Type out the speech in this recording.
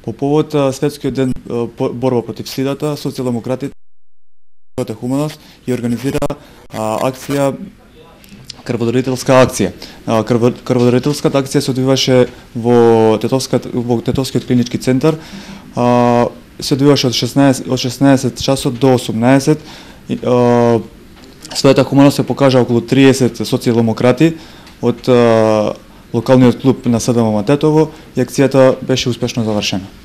По повод светскиот ден борба против сидата, социјалдемократите Хуманост ја организира акција крводарителска акција. Крводарителската акција се одвиваше во Тетовскиот клинички центар. Се одвиваше од 16 часот до 18. Својата хуманост се покажа околу 30 социјалдемократи од локалниот клуб на СДМ Тетово и акцијата беше успешно завршена.